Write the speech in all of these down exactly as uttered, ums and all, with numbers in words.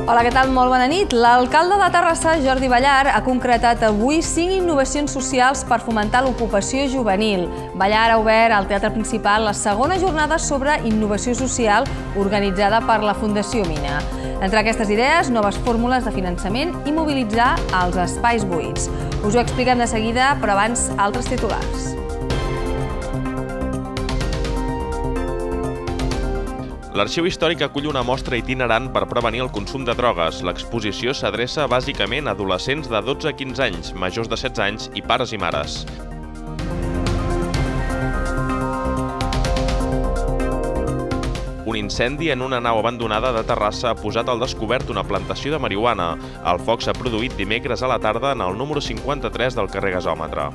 Hola, què tal? Molt bona nit. L'alcalde de Terrassa, Jordi Ballar, ha concretat avui cinc innovacions socials per fomentar l'ocupació juvenil. Ballar ha obert al Teatre Principal la segona jornada sobre innovació social organitzada per la Fundació Mina. Entre aquestes idees, noves fórmules de finançament i mobilitzar els espais buits. Us ho expliquem de seguida, però abans altres titulars. L'Arxiu Històric acull una mostra itinerant per prevenir el consum de drogues. L'exposició s'adreça bàsicament a adolescents de dotze a quinze anys, majors de setze anys i pares i mares. Un incendi en una nau abandonada de Terrassa ha posat al descobert una plantació de marihuana. El foc s'ha produït dimecres a la tarda en el número cinquanta-tres del carrer Gasòmetre.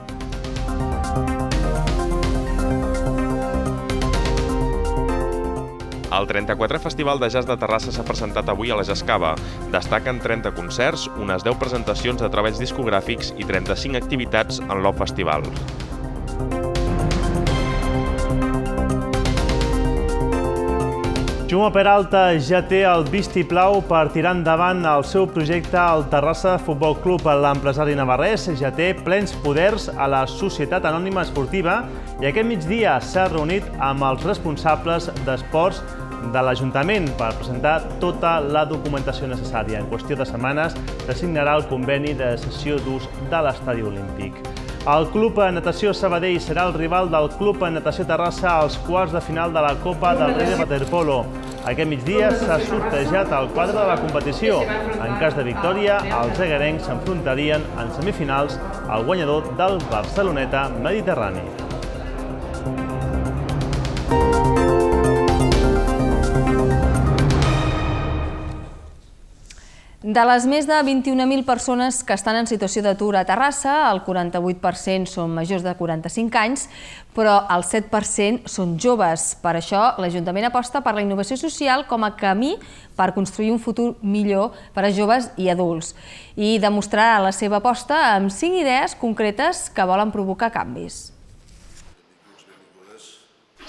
El trenta-quatrè Festival de Jazz de Terrassa s'ha presentat avui a la Jascava. Destaquen trenta concerts, unes deu presentacions de treballs discogràfics i trenta-cinc activitats en l'Off Festival. Jaume Peralta ja té el vistiplau per tirar endavant el seu projecte al Terrassa Futbol Club. L'empresari navarrès ja té plens poders a la Societat Anònima Esportiva i aquest migdia s'ha reunit amb els responsables d'esports de l'Ajuntament per presentar tota la documentació necessària. En qüestió de setmanes s'assignarà el conveni de cessió d'ús de l'Estadi Olímpic. El Club Natació Sabadell serà el rival del Club Natació Terrassa als quarts de final de la Copa del Rei de Waterpolo. Aquest migdia s'ha sortejat el quadre de la competició. En cas de victòria, els egarencs s'enfrontarien en semifinals al guanyador del Barceloneta Mediterrani. De les més de vint-i-una mil persones que estan en situació d'atur a Terrassa, el quaranta-vuit per cent són majors de quaranta-cinc anys, però el set per cent són joves. Per això, l'Ajuntament aposta per la innovació social com a camí per construir un futur millor per a joves i adults. I demostrarà la seva aposta amb cinc idees concretes que volen provocar canvis.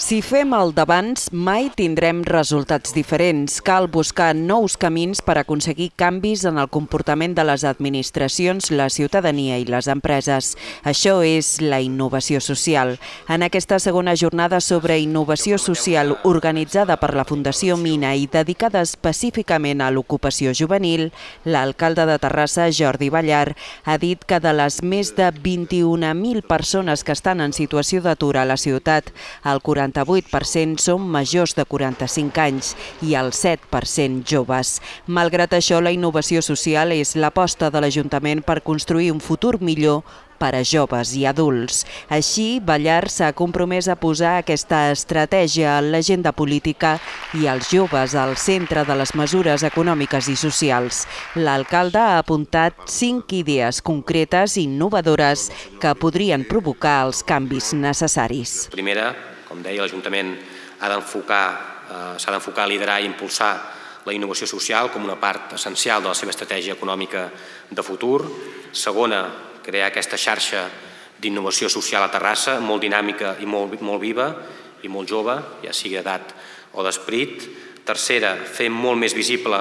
Si fem el d'abans, mai tindrem resultats diferents. Cal buscar nous camins per aconseguir canvis en el comportament de les administracions, la ciutadania i les empreses. Això és la innovació social. En aquesta segona jornada sobre innovació social organitzada per la Fundació Mina i dedicada específicament a l'ocupació juvenil, l'alcalde de Terrassa, Jordi Ballar, ha dit que de les més de vint-i-una mil persones que estan en situació d'atur a la ciutat, el quaranta-vuit per cent són majors de quaranta-cinc anys i el set per cent joves. Malgrat això, la innovació social és l'aposta de l'Ajuntament per construir un futur millor per a joves i adults. Així, Ballar s'ha compromès a posar aquesta estratègia a l'agenda política i els joves al centre de les mesures econòmiques i socials. L'alcalde ha apuntat cinc idees concretes i innovadores que podrien provocar els canvis necessaris. Primera, com deia, l'Ajuntament ha d'enfocar, s'ha d'enfocar a liderar i impulsar la innovació social com una part essencial de la seva estratègia econòmica de futur. Segona, crear aquesta xarxa d'innovació social a Terrassa, molt dinàmica i molt, molt viva i molt jove, ja sigui d'edat o d'esperit. Tercera, fer molt més visible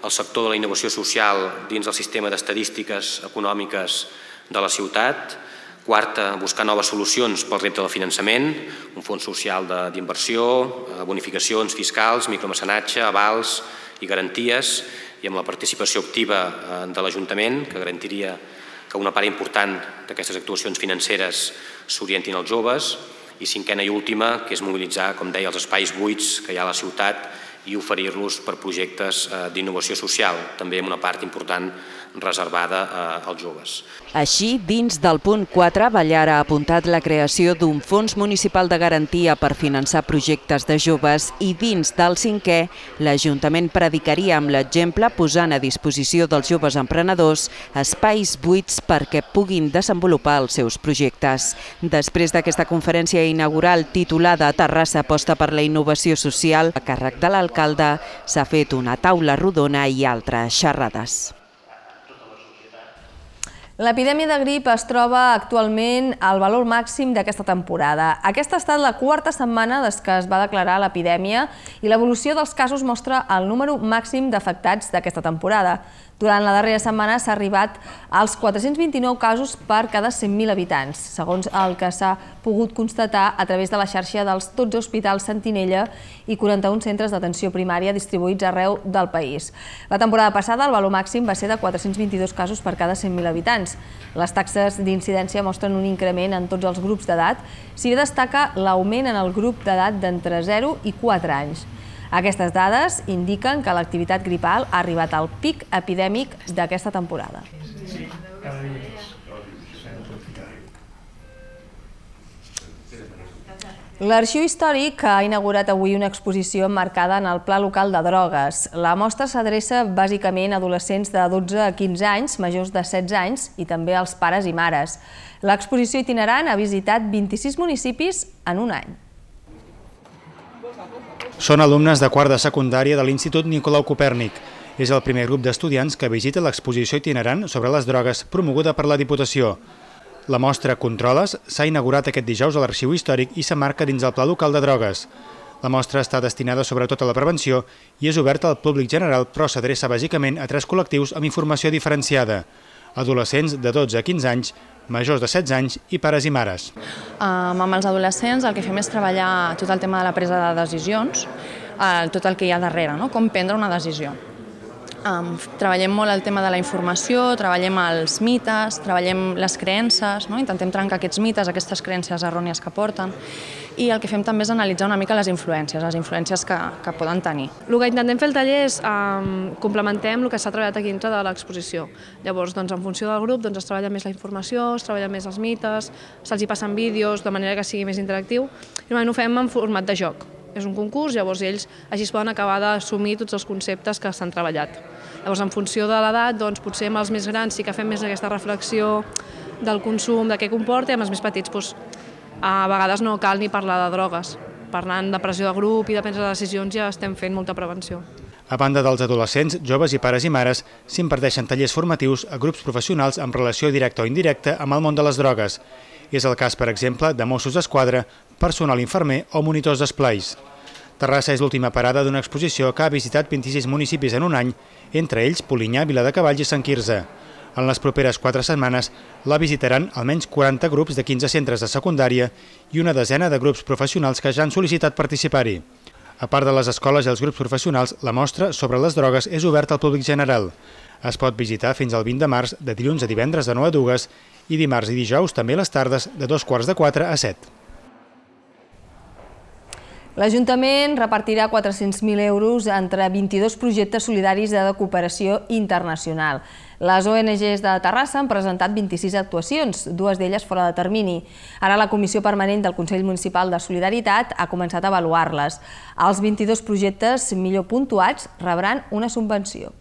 el sector de la innovació social dins del sistema d'estadístiques econòmiques de la ciutat. Quarta, buscar noves solucions pel repte del finançament, un fons social d'inversió, bonificacions fiscals, micromecenatge, avals i garanties, i amb la participació activa de l'Ajuntament, que garantiria que una part important d'aquestes actuacions financeres s'orientin als joves. I cinquena i última, que és mobilitzar, com deia, els espais buits que hi ha a la ciutat i oferir-los per projectes d'innovació social, també amb una part important reservada als joves. Així, dins del punt quatre, Ballar ha apuntat la creació d'un fons municipal de garantia per finançar projectes de joves i dins del cinquè, l'Ajuntament predicaria amb l'exemple posant a disposició dels joves emprenedors espais buits perquè puguin desenvolupar els seus projectes. Després d'aquesta conferència inaugural titulada Terrassa aposta per la innovació social, a càrrec de l'alcalde s'ha fet una taula rodona i altres xerrades. L'epidèmia de grip es troba actualment al valor màxim d'aquesta temporada. Aquesta ha estat la quarta setmana des que es va declarar l'epidèmia i l'evolució dels casos mostra el número màxim d'afectats d'aquesta temporada. Durant la darrera setmana s'ha arribat als quatre-cents vint-i-nou casos per cada cent mil habitants, segons el que s'ha pogut constatar a través de la xarxa dels dotze hospitals Sentinella i quaranta-un centres d'atenció primària distribuïts arreu del país. La temporada passada el valor màxim va ser de quatre-cents vint-i-dos casos per cada cent mil habitants. Les taxes d'incidència mostren un increment en tots els grups d'edat, si bé destaca l'augment en el grup d'edat d'entre zero i quatre anys. Aquestes dades indiquen que l'activitat gripal ha arribat al pic epidèmic d'aquesta temporada. L'Arxiu Històric ha inaugurat avui una exposició emmarcada en el Pla Local de Drogues. La mostra s'adreça bàsicament a adolescents de dotze a quinze anys, majors de setze anys i també als pares i mares. L'exposició itinerant ha visitat vint-i-sis municipis en un any. Són alumnes de quart de secundària de l'Institut Nicolau Copèrnic. És el primer grup d'estudiants que visita l'exposició itinerant sobre les drogues promoguda per la Diputació. La mostra Controles s'ha inaugurat aquest dijous a l'Arxiu Històric i s'emmarca dins el Pla Local de Drogues. La mostra està destinada sobretot a la prevenció i és oberta al públic general, però s'adreça bàsicament a tres col·lectius amb informació diferenciada: adolescents de dotze a quinze anys, majors de setze anys i pares i mares. Amb els adolescents el que fem és treballar tot el tema de la presa de decisions, tot el que hi ha darrere, com prendre una decisió. Treballem molt el tema de la informació, treballem els mites, treballem les creences, intentem trencar aquests mites, aquestes creences errònies que porten, i el que fem també és analitzar una mica les influències, les influències que poden tenir. El que intentem fer al taller és complementem el que s'ha treballat aquí dintre de l'exposició. Llavors, en funció del grup, es treballa més la informació, es treballa més els mites, se'ls hi passen vídeos de manera que sigui més interactiu, i normalment ho fem en format de joc. És un concurs, llavors ells així es poden acabar d'assumir tots els conceptes que s'han treballat. Llavors, en funció de l'edat, potser amb els més grans sí que fem més aquesta reflexió del consum, de què comporta, i amb els més petits a vegades no cal ni parlar de drogues. Parlant de pressió de grup i de prendre decisions ja estem fent molta prevenció. A banda dels adolescents, joves i pares i mares, s'imparteixen tallers formatius a grups professionals amb relació directa o indirecta amb el món de les drogues. És el cas, per exemple, de Mossos d'Esquadra, personal infermer o monitors d'esplais. Terrassa és l'última parada d'una exposició que ha visitat vint-i-sis municipis en un any, entre ells Polinyà, Viladecavalls i Sant Quirze. En les properes quatre setmanes la visitaran almenys quaranta grups de quinze centres de secundària i una desena de grups professionals que ja han sol·licitat participar-hi. A part de les escoles i els grups professionals, la mostra sobre les drogues és oberta al públic general. Es pot visitar fins al vint de març, de dilluns a divendres de nou a dues, i dimarts i dijous també a les tardes de dos quarts de quatre a set. L'Ajuntament repartirà quatre-cents mil euros entre vint-i-dos projectes solidaris de cooperació internacional. Les O N Ges de Terrassa han presentat vint-i-sis actuacions, dues d'elles fora de termini. Ara la Comissió Permanent del Consell Municipal de Solidaritat ha començat a avaluar-les. Els vint-i-dos projectes millor puntuats rebran una subvenció.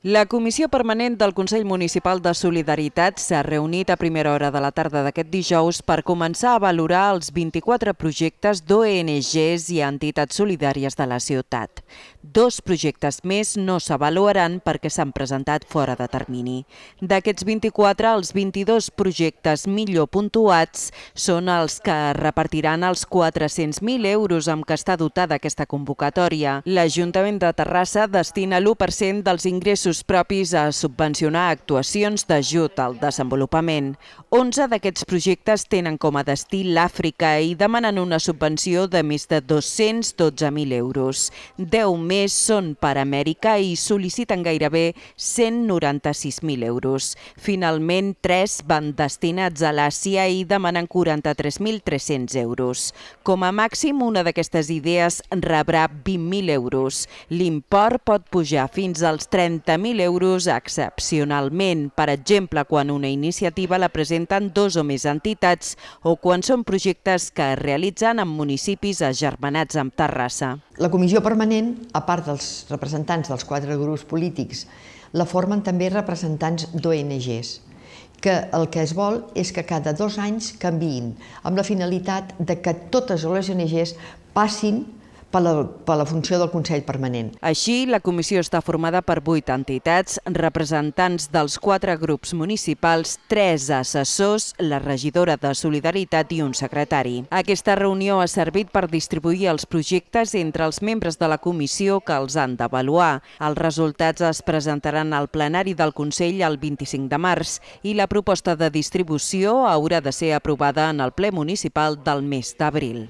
La Comissió Permanent del Consell Municipal de Solidaritat s'ha reunit a primera hora de la tarda d'aquest dijous per començar a valorar els vint-i-quatre projectes d'O N Ges i entitats solidàries de la ciutat. Dos projectes més no s'avaluaran perquè s'han presentat fora de termini. D'aquests vint-i-quatre, els vint-i-dos projectes millor puntuats són els que repartiran els quatre-cents mil euros amb què està dotada aquesta convocatòria. L'Ajuntament de Terrassa destina l'u per cent dels ingressos propis a subvencionar actuacions d'ajut al desenvolupament. onze d'aquests projectes tenen com a destí l'Àfrica i demanen una subvenció de més de dos-cents dotze mil euros. deu més són per Amèrica i sol·liciten gairebé cent noranta-sis mil euros. Finalment, tres van destinats a l'Àsia i demanen quaranta-tres mil tres-cents euros. Com a màxim, una d'aquestes idees rebrà vint mil euros. L'import pot pujar fins als trenta mil euros excepcionalment, per exemple, quan una iniciativa la presenten dos o més entitats o quan són projectes que es realitzen en municipis agermanats amb Terrassa. La Comissió Permanent, a part dels representants dels quatre grups polítics, la formen també representants d'O N Ges, que el que es vol és que cada dos anys canviïn, amb la finalitat de que totes les O N Ges passin per la, per la funció del Consell Permanent. Així, la comissió està formada per vuit entitats, representants dels quatre grups municipals, tres assessors, la regidora de Solidaritat i un secretari. Aquesta reunió ha servit per distribuir els projectes entre els membres de la comissió que els han d'avaluar. Els resultats es presentaran al plenari del Consell el vint-i-cinc de març i la proposta de distribució haurà de ser aprovada en el ple municipal del mes d'abril.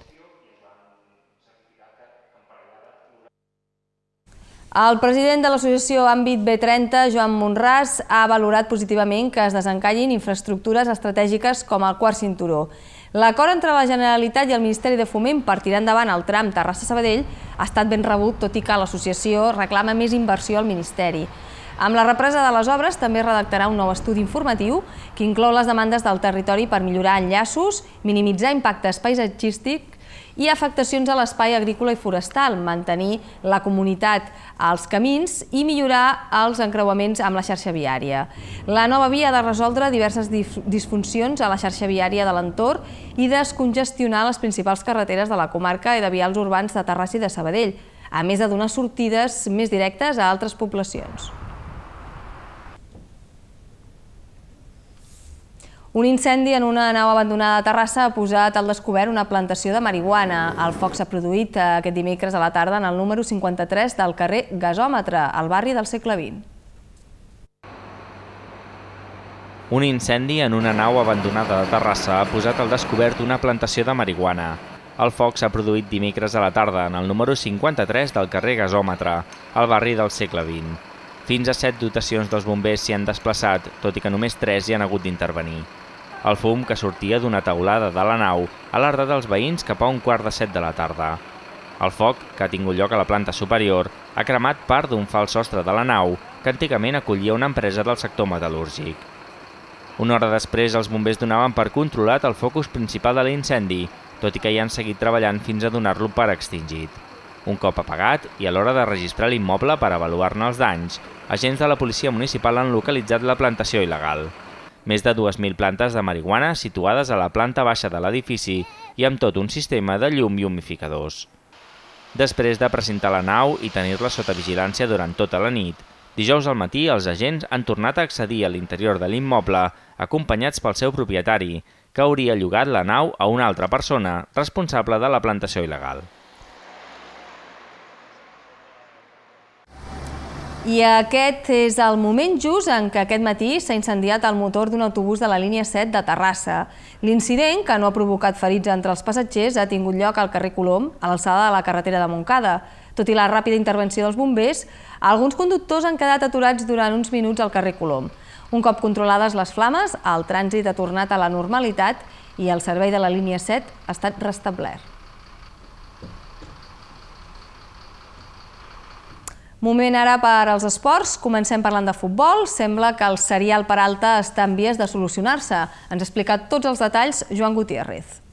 El president de l'associació Àmbit B trenta, Joan Monràs, ha valorat positivament que es desencallin infraestructures estratègiques com el quart cinturó. L'acord entre la Generalitat i el Ministeri de Foment per tirar endavant el tram Terrassa-Sabadell ha estat ben rebut, tot i que l'associació reclama més inversió al Ministeri. Amb la represa de les obres també redactarà un nou estudi informatiu que inclou les demandes del territori per millorar enllaços, minimitzar impactes paisatgístics i afectacions a l'espai agrícola i forestal, mantenir la comunitat als camins i millorar els encreuaments amb la xarxa viària. La nova via ha de resoldre diverses disfuncions a la xarxa viària de l'entorn i descongestionar les principals carreteres de la comarca i de vials urbans de Terrassa i de Sabadell, a més de donar sortides més directes a altres poblacions. Un incendi en una nau abandonada a Terrassa ha posat al descobert una plantació de marihuana. El foc s'ha produït aquest dimecres a la tarda en el número cinquanta-tres del carrer Gasòmetre, al barri del segle vint. Un incendi en una nau abandonada de Terrassa ha posat al descobert una plantació de marihuana. El foc s'ha produït dimecres a la tarda en el número cinquanta-tres del carrer Gasòmetre, al barri del segle vint. Fins a set dotacions dels bombers s'hi han desplaçat, tot i que només tres hi han hagut d'intervenir. El fum, que sortia d'una teulada de la nau, ha alertat els veïns cap a un quart de set de la tarda. El foc, que ha tingut lloc a la planta superior, ha cremat part d'un fals sostre de la nau, que antigament acollia una empresa del sector metal·lúrgic. Una hora després, els bombers donaven per controlat el focus principal de l'incendi, tot i que hi han seguit treballant fins a donar-lo per extingit. Un cop apagat, i a l'hora de registrar l'immoble per avaluar-ne els danys, agents de la policia municipal han localitzat la plantació il·legal. Més de dues mil plantes de marihuana situades a la planta baixa de l'edifici i amb tot un sistema de llum i humificadors. Després de precintar la nau i tenir-la sota vigilància durant tota la nit, dijous al matí els agents han tornat a accedir a l'interior de l'immoble acompanyats pel seu propietari, que hauria llogat la nau a una altra persona responsable de la plantació il·legal. I aquest és el moment just en què aquest matí s'ha incendiat el motor d'un autobús de la línia set de Terrassa. L'incident, que no ha provocat ferits entre els passatgers, ha tingut lloc al carrer Colom, a l'alçada de la carretera de Montcada. Tot i la ràpida intervenció dels bombers, alguns conductors han quedat aturats durant uns minuts al carrer Colom. Un cop controlades les flames, el trànsit ha tornat a la normalitat i el servei de la línia set ha estat restablert. Moment ara per als esports. Comencem parlant de futbol. Sembla que el serial Peralta està en vies de solucionar-se. Ens ha explicat tots els detalls Joan Gutiérrez.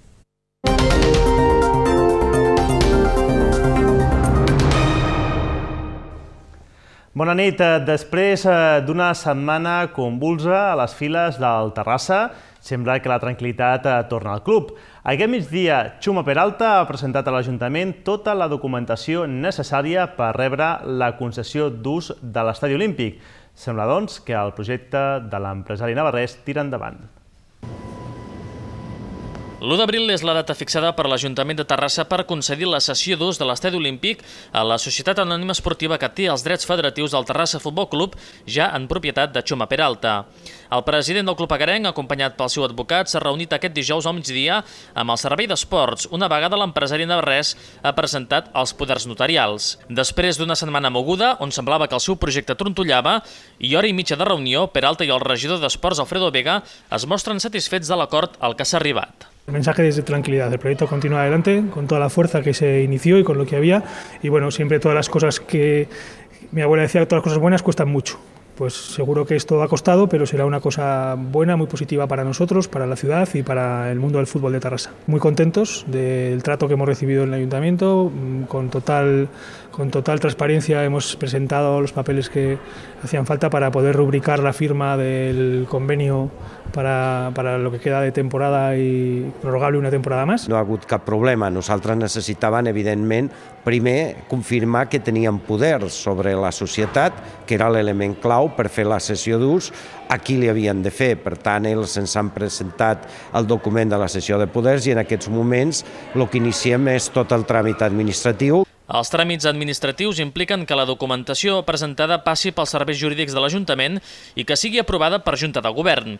Bona nit. Després d'una setmana convulsa a les files del Terrassa, sembla que la tranquil·litat torna al club. Aquest migdia, Chuma Peralta ha presentat a l'Ajuntament tota la documentació necessària per rebre la concessió d'ús de l'Estadi Olímpic. Sembla, doncs, que el projecte de l'empresari navarrès tira endavant. l'u d'abril és la data fixada per l'Ajuntament de Terrassa per concedir la cessió d'ús de l'Estadi Olímpic a la Societat Anònima Esportiva que té els drets federatius del Terrassa Futbol Club, ja en propietat de Chuma Peralta. El president del club agarenc, acompanyat pel seu advocat, s'ha reunit aquest dijous al migdia amb el Servei d'Esports, una vegada l'empresari navarrès ha presentat els poders notarials. Després d'una setmana moguda, on semblava que el seu projecte trontollava, i hora i mitja de reunió, Peralta i el regidor d'Esports, Alfredo Vega, es mostren satisfets de l'acord al que s'ha arribat. El mensaje es de tranquilidad, el proyecto continúa adelante con toda la fuerza que se inició y con lo que había, y bueno, siempre todas las cosas que mi abuela decía, todas las cosas buenas cuestan mucho. Pues seguro que esto ha costado, pero será una cosa buena, muy positiva para nosotros, para la ciudad y para el mundo del fútbol de Terrassa. Muy contentos del trato que hemos recibido en el Ayuntamiento, con total con total transparencia hemos presentado los papeles que hacían falta para poder rubricar la firma del convenio para, para lo que queda de temporada i prorrogable una temporada més. No ha hagut cap problema. Nosaltres necessitàvem, evidentment, primer confirmar que teníem poder sobre la societat, que era l'element clau per fer la cessió d'ús, a qui li havien de fer. Per tant, ells ens han presentat el document de la cessió de poders i en aquests moments el que iniciem és tot el tràmit administratiu. Els tràmits administratius impliquen que la documentació presentada passi pels serveis jurídics de l'Ajuntament i que sigui aprovada per Junta de Govern.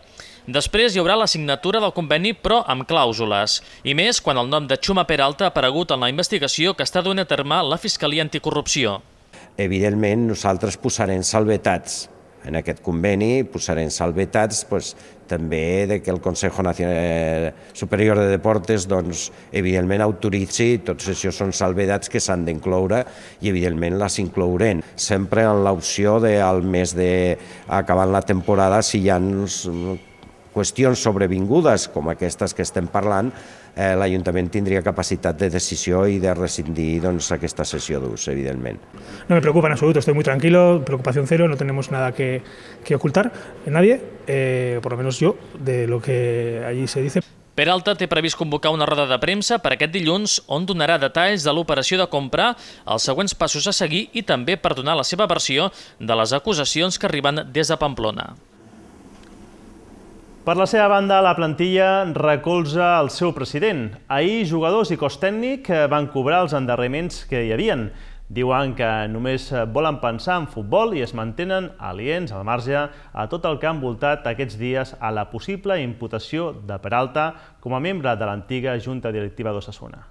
Després hi haurà la signatura del conveni, però amb clàusules, i més quan el nom de Chuma Peralta ha aparegut en la investigació que està duent a terme la Fiscalia Anticorrupció. Evidentment, nosaltres posarem salvetats. En aquest conveni posarem salvetats pues, també de que el Consejo Nacional Superior de Deportes doncs, evidentment autoritzi, tots això són salvedats que s'han d'incloure i evidentment les inclourem. Sempre en l'opció del mes d'acabant la temporada, si hi ha qüestions sobrevingudes com aquestes que estem parlant, eh, l'Ajuntament tindria capacitat de decisió i de rescindir doncs, aquesta cessió d'ús, evidentment. No me preocupa en absoluto, estoy muy tranquilo, preocupación cero, no tenemos nada que, que ocultar en nadie, eh, por lo menos yo, de lo que allí se dice. Peralta té previst convocar una roda de premsa per aquest dilluns on donarà detalls de l'operació de compra, els següents passos a seguir i també per donar la seva versió de les acusacions que arriben des de Pamplona. Per la seva banda, la plantilla recolza el seu president. Ahir, jugadors i cos tècnic van cobrar els endarreriments que hi havien. Diuen que només volen pensar en futbol i es mantenen aliens al marge a tot el que ha envoltat aquests dies a la possible imputació de Peralta com a membre de l'antiga Junta Directiva d'Osasuna.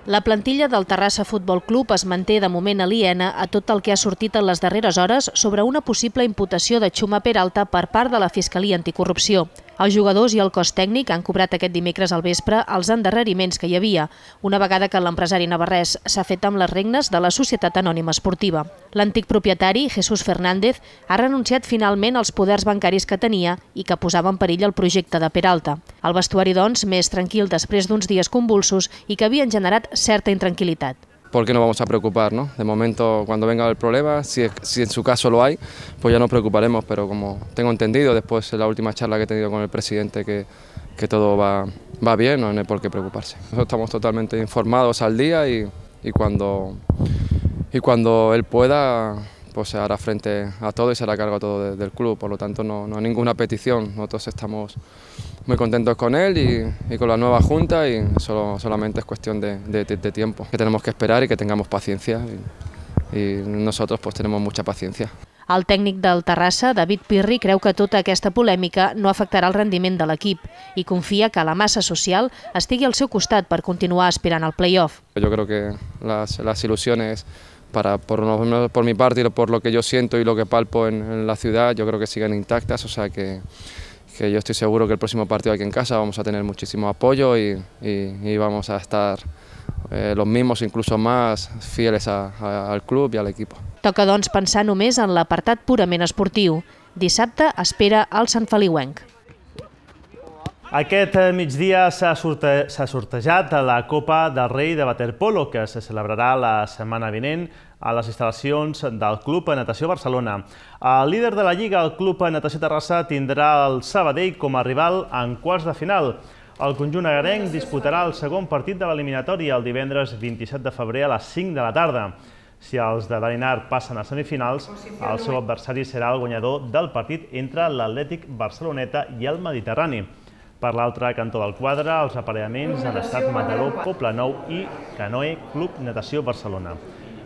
La plantilla del Terrassa Futbol Club es manté de moment aliena a tot el que ha sortit en les darreres hores sobre una possible imputació de Chuma Peralta per part de la Fiscalia Anticorrupció. Els jugadors i el cos tècnic han cobrat aquest dimecres al vespre els endarreriments que hi havia, una vegada que l'empresari navarrès s'ha fet amb les regnes de la Societat Anònima Esportiva. L'antic propietari, Jesús Fernández, ha renunciat finalment als poders bancaris que tenia i que posava en perill el projecte de Peralta. El vestuari, doncs, més tranquil després d'uns dies convulsos i que havien generat certa intranquilitat. ¿Por qué nos vamos a preocupar, ¿no? De momento, cuando venga el problema, si, si en su caso lo hay, pues ya nos preocuparemos, pero como tengo entendido, después de la última charla que he tenido con el presidente, que, que todo va, va bien, no hay por qué preocuparse. Nosotros estamos totalmente informados al día y, y, cuando, y cuando él pueda, pues se hará frente a todo y se hará cargo a todo de, del club, por lo tanto no, no hay ninguna petición, nosotros estamos muy contentos con él y, y con la nueva junta y solo, solamente es cuestión de, de, de tiempo, que tenemos que esperar y que tengamos paciencia y, y nosotros pues tenemos mucha paciencia. El tècnic del Terrassa, David Pirri, creu que tota aquesta polèmica no afectarà el rendiment de l'equip i confia que la massa social estigui al seu costat per continuar aspirant al play-off. Yo creo que las, las ilusiones Para, por, por mi parte y por lo que yo siento y lo que palpo en, en la ciudad, yo creo que siguen intactas, o sea que, que yo estoy seguro que el próximo partido aquí en casa vamos a tener muchísimo apoyo y, y, y vamos a estar eh, los mismos, incluso más fieles a, a, al club i al equipo. Toca, doncs, pensar només en l'apartat purament esportiu. Dissabte espera el Sant Feliuenc. Aquest migdia s'ha sorte, sortejat la Copa del Rei de Waterpolo, que se celebrarà la setmana vinent a les instal·lacions del Club Natació Barcelona. El líder de la Lliga, el Club Natació Terrassa, tindrà el Sabadell com a rival en quarts de final. El conjunt agarenc disputarà el segon partit de l'eliminatòria el divendres vint-i-set de febrer a les cinc de la tarda. Si els de Dalinar passen a semifinals, el seu adversari serà el guanyador del partit entre l'Atlètic Barceloneta i el Mediterrani. Per l'altre cantó del quadre, els aparellaments han estat Mataró, Poblenou i Canoe Club Natació Barcelona.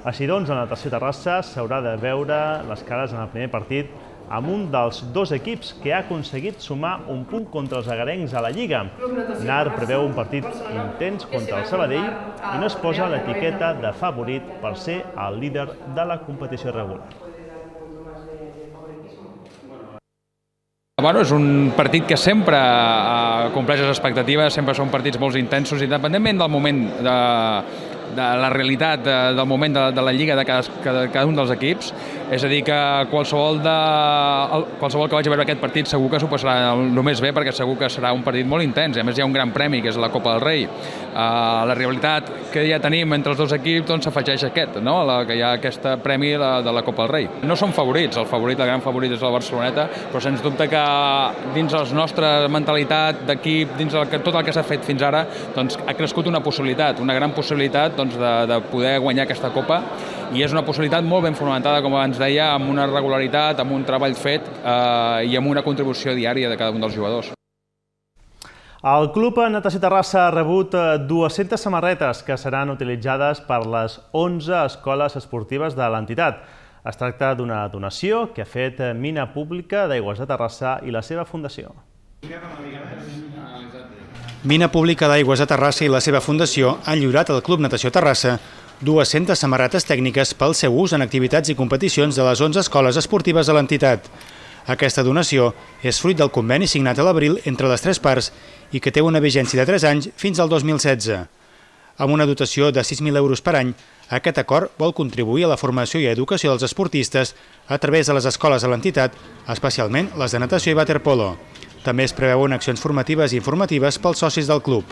Així doncs, la Natació Terrassa s'haurà de veure les cares en el primer partit amb un dels dos equips que ha aconseguit sumar un punt contra els agarencs a la Lliga. Nar preveu un partit intens contra el Sabadell i no es posa l'etiqueta de favorit per ser el líder de la competició regular. Bueno, és un partit que sempre compleix les expectatives, sempre són partits molt intensos, independentment del moment, de, de la realitat, de, del moment de, de la lliga de cada, cada un dels equips. És a dir, que qualsevol, de, qualsevol que vagi a veure aquest partit segur que s'ho passarà el més bé, perquè segur que serà un partit molt intens. A més, hi ha un gran premi, que és la Copa del Rei. Uh, la rivalitat que ja tenim entre els dos equips doncs, s'afegeix aquest, no? la, que hi ha aquest premi de, de la Copa del Rei. No són favorits, el favorit, el gran favorit és el Barceloneta, però sens dubte que dins la nostra mentalitat d'equip, dins el, tot el que s'ha fet fins ara, doncs, ha crescut una possibilitat, una gran possibilitat doncs, de, de poder guanyar aquesta Copa, i és una possibilitat molt ben fonamentada, com abans deia, amb una regularitat, amb un treball fet eh, i amb una contribució diària de cada un dels jugadors. El Club Natació Terrassa ha rebut dues-centes samarretes que seran utilitzades per les onze escoles esportives de l'entitat. Es tracta d'una donació que ha fet Mina Pública d'Aigües de Terrassa i la seva fundació. Mina Pública d'Aigües de Terrassa i la seva fundació han lliurat al Club Natació Terrassa dues-centes samarretes tècniques pel seu ús en activitats i competicions de les onze escoles esportives de l'entitat. Aquesta donació és fruit del conveni signat a l'abril entre les tres parts i que té una vigència de tres anys fins al dos mil setze. Amb una dotació de sis mil euros per any, aquest acord vol contribuir a la formació i educació dels esportistes a través de les escoles de l'entitat, especialment les de natació i waterpolo. També es preveuen accions formatives i informatives pels socis del club.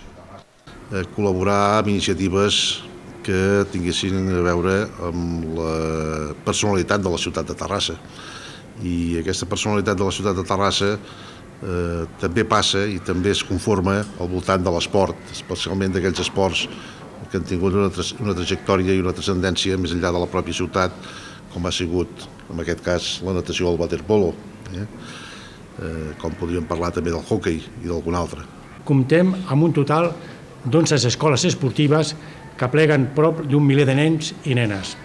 Col·laborar amb iniciatives que tinguessin a veure amb la personalitat de la ciutat de Terrassa. I aquesta personalitat de la ciutat de Terrassa eh, també passa i també es conforma al voltant de l'esport, especialment d'aquells esports que han tingut una, tra una trajectòria i una transcendència més enllà de la pròpia ciutat, com ha sigut, en aquest cas, la natació o el waterpolo, eh? Eh, com podríem parlar també del hockey i d'algun altre. Comptem amb un total d'onze escoles esportives que pleguen prop d'un miler de nens i nenes.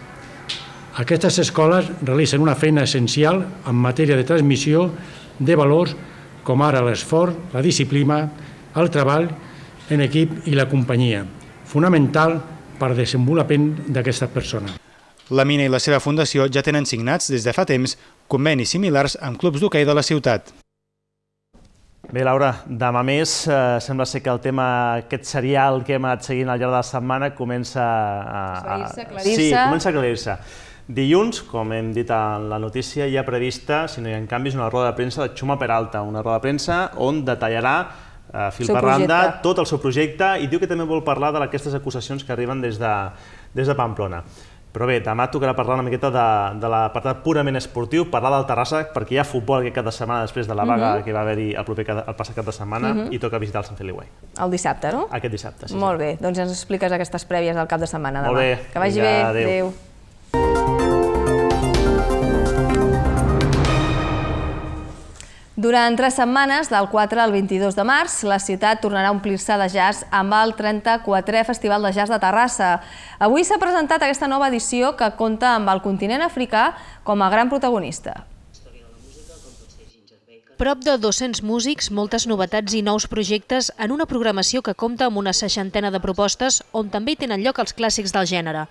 Aquestes escoles realitzen una feina essencial en matèria de transmissió de valors com ara l'esforç, la disciplina, el treball en equip i la companyia, fonamental per al desenvolupament d'aquestes persones. La Mina i la seva fundació ja tenen signats des de fa temps convenis similars amb clubs d'hoquei de la ciutat. Bé, Laura, demà més, eh, sembla ser que el tema, aquest serial que hem anat seguint al llarg de la setmana comença a... Aclarir-se, aclarir-se. Sí, comença a aclarir-se. Dilluns, com hem dit en la notícia, hi ha prevista, si no hi ha canvis, una roda de premsa de Chuma Peralta, una roda de premsa on detallarà eh, fil per randa tot el seu projecte i diu que també vol parlar d'aquestes acusacions que arriben des de, des de Pamplona. Però bé, demà tocarà parlar una miqueta de, de l'apartat purament esportiu, parlar del Terrassa, perquè hi ha futbol aquest cap de setmana després de la vaga uh -huh. que va haver-hi el, proper, el passat cap de setmana uh -huh. i toca visitar el Sant Feliu Way. El dissabte, no? Aquest dissabte, sí. Molt bé, doncs ens expliques aquestes prèvies del cap de setmana demà. Molt bé. Que vagi bé. Adéu. Durant tres setmanes, del quatre al vint-i-dos de març, la ciutat tornarà a omplir-se de jazz amb el trenta-quatrè Festival de Jazz de Terrassa. Avui s'ha presentat aquesta nova edició que compta amb el continent africà com a gran protagonista. Prop de dos-cents músics, moltes novetats i nous projectes en una programació que compta amb una seixantena de propostes on també hi tenen lloc els clàssics del gènere.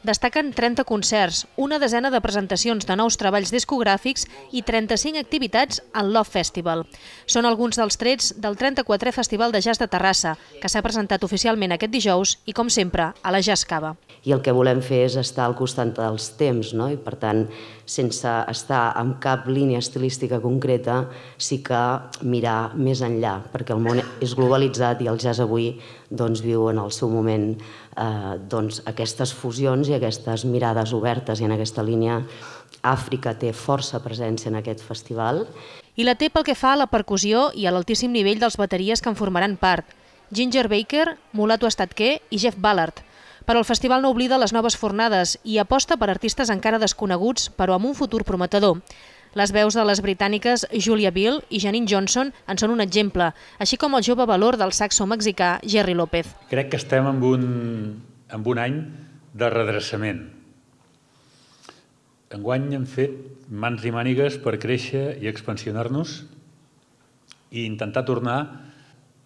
Destaquen trenta concerts, una desena de presentacions de nous treballs discogràfics i trenta-cinc activitats al Love Festival. Són alguns dels trets del trenta-quatrè Festival de Jazz de Terrassa, que s'ha presentat oficialment aquest dijous i, com sempre, a la Jazz Cava. I el que volem fer és estar al costat dels temps, no? I per tant, sense estar en cap línia estilística concreta, sí que mirar més enllà, perquè el món és globalitzat i el jazz avui doncs, viu en el seu moment eh, doncs, aquestes fusions i aquestes mirades obertes, i en aquesta línia Àfrica té força presència en aquest festival. I la té pel que fa a la percussió i a l'altíssim nivell dels bateries que en formaran part. Ginger Baker, Mulatu Estatquer i Jeff Ballard. Però el festival no oblida les noves fornades i aposta per artistes encara desconeguts, però amb un futur prometedor. Les veus de les britàniques Julia Bill i Janine Johnson en són un exemple, així com el jove valor del saxo mexicà Jerry López. Crec que estem en un, en un any de redreçament. Enguany hem fet mans i mànigues per créixer i expansionar-nos i intentar tornar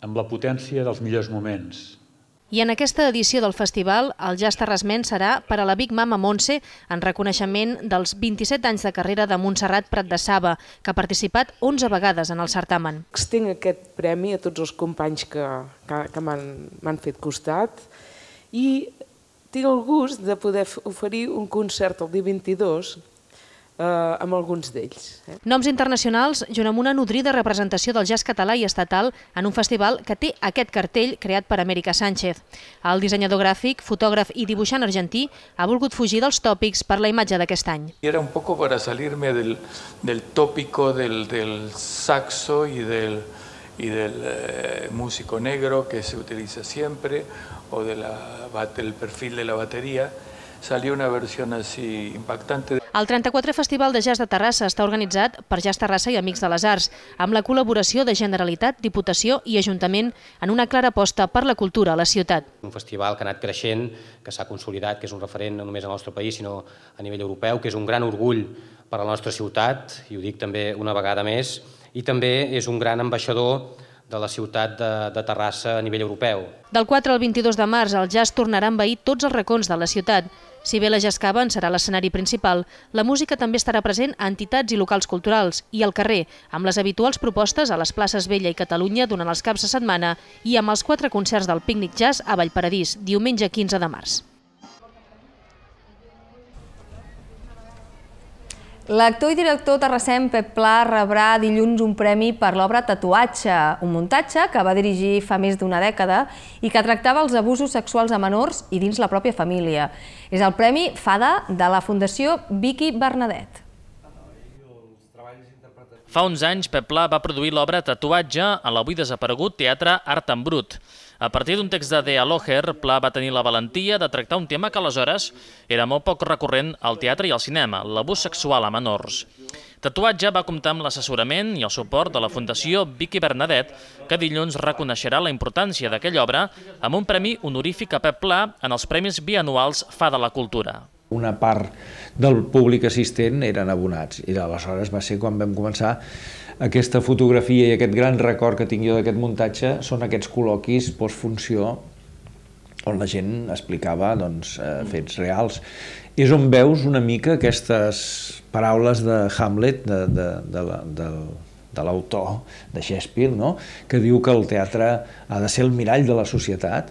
amb la potència dels millors moments. I en aquesta edició del festival, el jazz terrasmenc serà per a la Big Mama Montse en reconeixement dels vint-i-set anys de carrera de Montserrat Prat de Saba, que ha participat onze vegades en el certamen. Extenc aquest premi a tots els companys que, que, que m'han fet costat i tinc el gust de poder oferir un concert el dia vint-i-dos amb alguns d'ells. Noms internacionals junt amb una nodrida representació del jazz català i estatal en un festival que té aquest cartell creat per América Sánchez. El dissenyador gràfic, fotògraf i dibuixant argentí ha volgut fugir dels tòpics per la imatge d'aquest any. Era un poco para salirme del, del tópico del, del saxo y del, y del eh, músico negro que se utiliza siempre o de la, del perfil de la batería. Salió una versión así impactante. El trenta-quatrè Festival de Jazz de Terrassa està organitzat per Jazz Terrassa i Amics de les Arts, amb la col·laboració de Generalitat, Diputació i Ajuntament en una clara aposta per la cultura a la ciutat. Un festival que ha anat creixent, que s'ha consolidat, que és un referent no només al nostre país, sinó a nivell europeu, que és un gran orgull per a la nostra ciutat, i ho dic també una vegada més, i també és un gran ambaixador de la ciutat de, de Terrassa a nivell europeu. Del quatre al vint-i-dos de març, el jazz tornarà a envair tots els racons de la ciutat. Si bé la Jazzcava en serà l'escenari principal, la música també estarà present a entitats i locals culturals i al carrer, amb les habituals propostes a les places Vella i Catalunya durant els caps de setmana i amb els quatre concerts del Pícnic Jazz a Vallparadís, diumenge quinze de març. L'actor i director terrassenc Pep Pla rebrà dilluns un premi per l'obra Tatuatge, un muntatge que va dirigir fa més d'una dècada i que tractava els abusos sexuals a menors i dins la pròpia família. És el Premi Fada de la Fundació Vicky Bernadet. Fa uns anys, Pep Pla va produir l'obra Tatuatge a l'avui desaparegut Teatre Art en Brut. A partir d'un text de Dea Loher, Pla va tenir la valentia de tractar un tema que aleshores era molt poc recurrent al teatre i al cinema, l'abús sexual a menors. Tatuatge va comptar amb l'assessorament i el suport de la Fundació Vicky Bernadet, que dilluns reconeixerà la importància d'aquella obra amb un premi honorífic a Pep Pla en els Premis Bianuals Fada la Cultura. Una part del públic assistent eren abonats i aleshores va ser quan vam començar aquesta fotografia i aquest gran record que tinc jo d'aquest muntatge són aquests col·loquis postfunció on la gent explicava doncs, eh, fets reals. És on veus una mica aquestes paraules de Hamlet, de, de, de, la, de, de l'autor de Shakespeare, no? Que diu que el teatre ha de ser el mirall de la societat.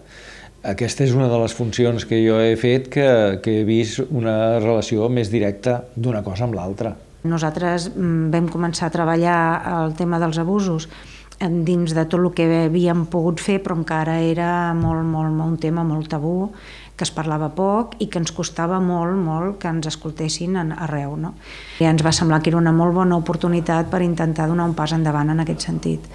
Aquesta és una de les funcions que jo he fet que, que he vist una relació més directa d'una cosa amb l'altra. Nosaltres vam començar a treballar el tema dels abusos dins de tot el que havíem pogut fer, però encara era molt, molt, molt, un tema molt tabú, que es parlava poc i que ens costava molt, molt que ens escoltessin arreu. No? I ens va semblar que era una molt bona oportunitat per intentar donar un pas endavant en aquest sentit.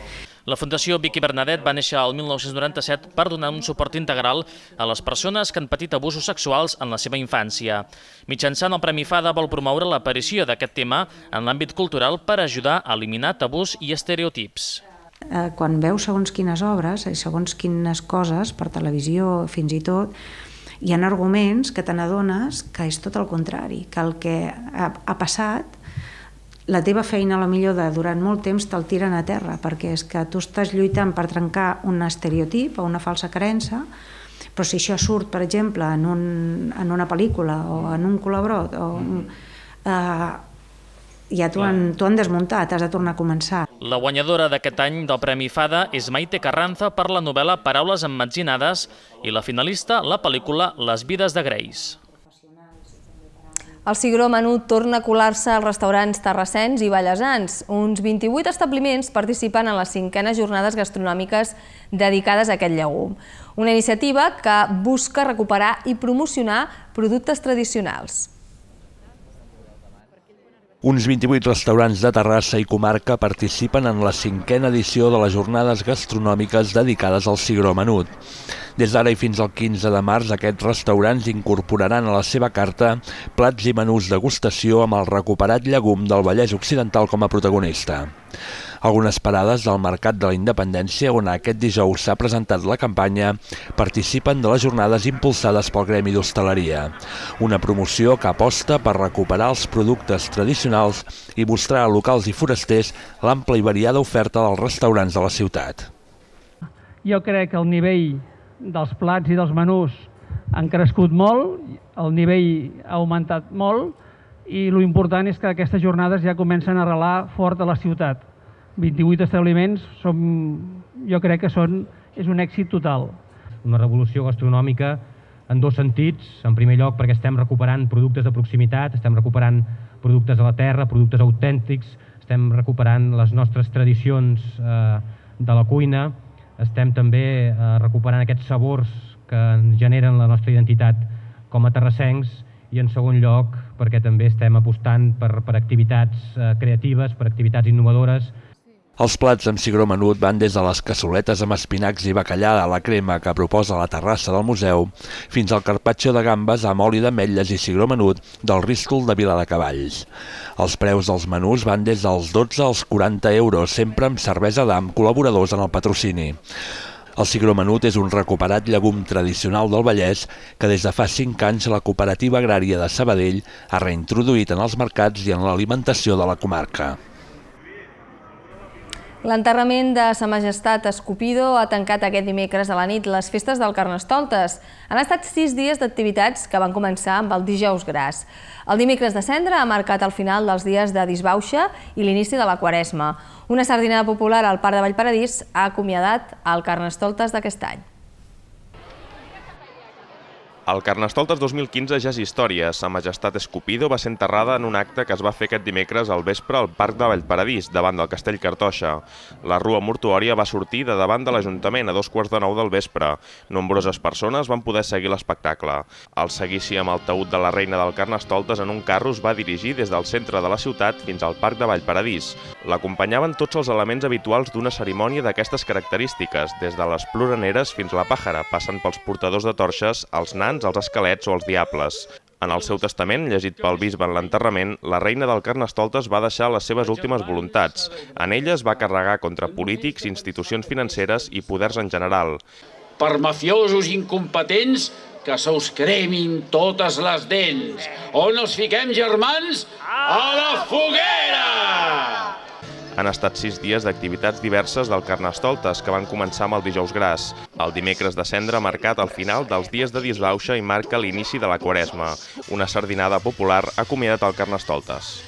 La Fundació Vicky Bernadet va néixer el mil nou-cents noranta-set per donar un suport integral a les persones que han patit abusos sexuals en la seva infància. Mitjançant el Premi Fada vol promoure l'aparició d'aquest tema en l'àmbit cultural per ajudar a eliminar tabús i estereotips. Quan veus segons quines obres i segons quines coses, per televisió fins i tot, hi ha arguments que te n'adones que és tot el contrari, que el que ha passat la teva feina, a la millor, de durant molt temps te'l tiren a terra, perquè és que tu estàs lluitant per trencar un estereotip o una falsa creença, però si això surt, per exemple, en, un, en una pel·lícula o en un col·laborat, o, eh, ja t'ho han, han desmuntat, has de tornar a començar. La guanyadora d'aquest any del Premi Fada és Maite Carranza per la novel·la Paraules emmetzinades i la finalista, la pel·lícula Les vides de Grace. El cigró menut torna a colar-se als restaurants terrassens i ballesans. Uns vint-i-vuit establiments participen en les cinquenes jornades gastronòmiques dedicades a aquest llegum. Una iniciativa que busca recuperar i promocionar productes tradicionals. Uns vint-i-vuit restaurants de Terrassa i comarca participen en la cinquena edició de les jornades gastronòmiques dedicades al cigró menut. Des d'ara i fins al quinze de març, aquests restaurants incorporaran a la seva carta plats i menús degustació amb el recuperat llegum del Vallès Occidental com a protagonista. Algunes parades del Mercat de la Independència, on aquest dijous s'ha presentat la campanya, participen de les jornades impulsades pel Gremi d'Hostaleria. Una promoció que aposta per recuperar els productes tradicionals i mostrar a locals i forasters l'ampla i variada oferta dels restaurants de la ciutat. Jo crec que el nivell dels plats i dels menús han crescut molt, el nivell ha augmentat molt i l'important és que aquestes jornades ja comencen a arrelar fort a la ciutat. vint-i-vuit establiments, som, jo crec que són, és un èxit total. Una revolució gastronòmica en dos sentits. En primer lloc, perquè estem recuperant productes de proximitat, estem recuperant productes de la terra, productes autèntics, estem recuperant les nostres tradicions de la cuina, estem també recuperant aquests sabors que ens generen la nostra identitat com a terrassencs i, en segon lloc, perquè també estem apostant per activitats creatives, per activitats innovadores. Els plats amb cigró menut van des de les cassoletes amb espinacs i bacallà a la crema que proposa la terrassa del museu fins al carpaccio de gambes amb oli d'ametlles i cigró menut del Ristol de Viladecavalls. Els preus dels menús van des dels dotze als quaranta euros, sempre amb cervesa d'am, col·laboradors en el patrocini. El cigró menut és un recuperat llegum tradicional del Vallès que des de fa cinc anys la Cooperativa Agrària de Sabadell ha reintroduït en els mercats i en l'alimentació de la comarca. L'enterrament de Sa Majestat Escupido ha tancat aquest dimecres a la nit les festes del Carnestoltes. Han estat sis dies d'activitats que van començar amb el dijous gras. El dimecres de Cendra ha marcat el final dels dies de disbauxa i l'inici de la Quaresma. Una sardinada popular al Parc de Vallparadís ha acomiadat el Carnestoltes d'aquest any. El Carnestoltes dos mil quinze ja és història. Sa Majestat Escupido va ser enterrada en un acte que es va fer aquest dimecres al vespre al Parc de Vallparadís, davant del Castell Cartoixa. La rua mortuòria va sortir de davant de l'Ajuntament a dos quarts de nou del vespre. Nombroses persones van poder seguir l'espectacle. El seguici amb el taüt de la reina del Carnestoltes en un carro es va dirigir des del centre de la ciutat fins al Parc de Vallparadís. L'acompanyaven tots els elements habituals d'una cerimònia d'aquestes característiques, des de les ploraneres fins a la pàjara, passant pels portadors de torxes, els nans, els esquelets o els diables. En el seu testament, llegit pel bisbe en l'enterrament, la reina del Carnestoltes va deixar les seves últimes voluntats. En elles va carregar contra polítics, institucions financeres i poders en general. Per mafiosos incompetents que se us cremin totes les dents. On els fiquem, germans? A la foguera! Han estat sis dies d'activitats diverses del Carnestoltes que van començar amb el dijous gras. El dimecres de Cendra ha marcat el final dels dies de disbauxa i marca l'inici de la Quaresma. Una sardinada popular ha acomiadat el Carnestoltes.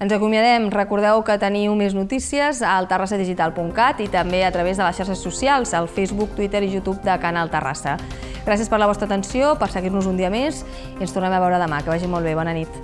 Ens acomiadem. Recordeu que teniu més notícies al terrassa digital punt cat i també a través de les xarxes socials, al Facebook, Twitter i YouTube de Canal Terrassa. Gràcies per la vostra atenció, per seguir-nos un dia més i ens tornem a veure demà. Que vagi molt bé. Bona nit.